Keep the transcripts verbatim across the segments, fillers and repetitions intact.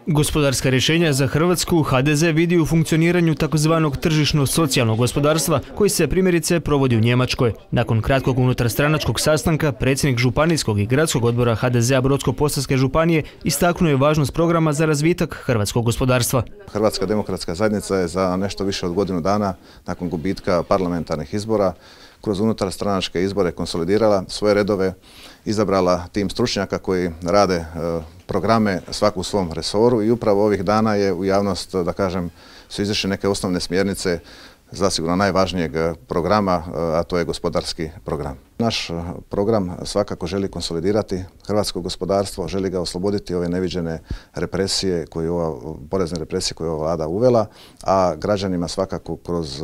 Gospodarska rješenja za Hrvatsku H D Z vidi u funkcioniranju takozvanog tržišno-socijalnog gospodarstva koji se primjerice provodi u Njemačkoj. Nakon kratkog unutarstranačkog sastanka, predsjednik Županijskog i gradskog odbora H D Z-a Brodsko-posavske županije istaknuo je važnost programa za razvitak hrvatskog gospodarstva. Hrvatska demokratska zajednica je za nešto više od godinu dana nakon gubitka parlamentarnih izbora kroz unutarstranačke izbore konsolidirala svoje redove, izabrala tim stručnjaka koji rade programe svaku u svom resoru i upravo ovih dana je u javnost, da kažem, su izašle neke osnovne smjernice zasigurno najvažnijeg programa, a to je gospodarski program. Naš program svakako želi konsolidirati hrvatsko gospodarstvo, želi ga osloboditi ove neviđene represije, koje ova, porezne represije koje je ova vlada uvela, a građanima svakako kroz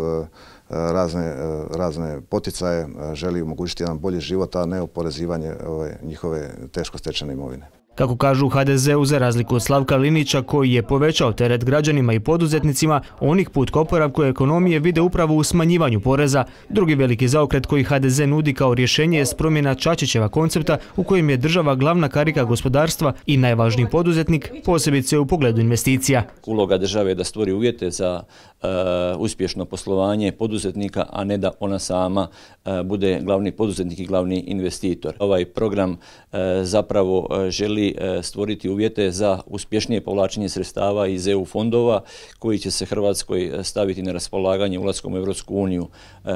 razne, razne poticaje želi omogućiti jedan bolji život, a ne oporezivanje ove njihove teško stečene imovine. Kako kažu u H D Z-u, za razliku od Slavka Linića koji je povećao teret građanima i poduzetnicima, onih put k oporavku ekonomije vide upravo u smanjivanju poreza. Drugi veliki zaokret koji H D Z nudi kao rješenje je promjena Čačićeva koncepta u kojem je država glavna karika gospodarstva i najvažniji poduzetnik, posebice u pogledu investicija. Uloga države je da stvori uvjete za uh, uspješno poslovanje poduzetnika, a ne da ona sama uh, bude glavni poduzetnik i glavni investitor. Ovaj program uh, zapravo uh, želi stvoriti uvjete za uspješnije povlačenje sredstava iz E U fondova koji će se Hrvatskoj staviti na raspolaganje ulaskom u Europsku uniju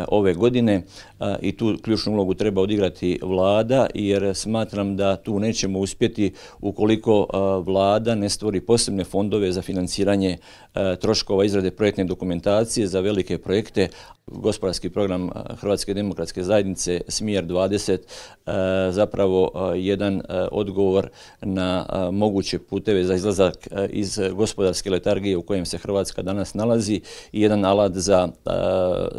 ove godine i tu ključnu ulogu treba odigrati vlada, jer smatram da tu nećemo uspjeti ukoliko vlada ne stvori posebne fondove za financiranje troškova izrade projektne dokumentacije za velike projekte. Gospodarski program Hrvatske demokratske zajednice Smjer dvadeset zapravo jedan odgovor na moguće puteve za izlazak iz gospodarske letargije u kojem se Hrvatska danas nalazi i jedan alat za,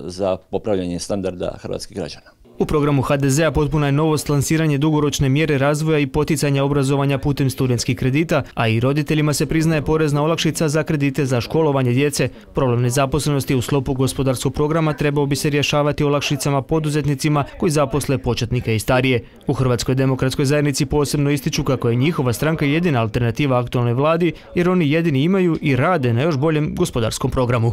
za popravljanje standarda hrvatskih građana. U programu H D Z-a potpuna je novost lansiranje dugoročne mjere razvoja i poticanja obrazovanja putem studentskih kredita, a i roditeljima se priznaje porezna olakšica za kredite za školovanje djece. Problem nezaposlenosti u sklopu gospodarskog programa trebao bi se rješavati olakšicama poduzetnicima koji zaposle početnike i starije. U Hrvatskoj demokratskoj zajednici posebno ističu kako je njihova stranka jedina alternativa aktualnoj vladi, jer oni jedini imaju i rade na još boljem gospodarskom programu.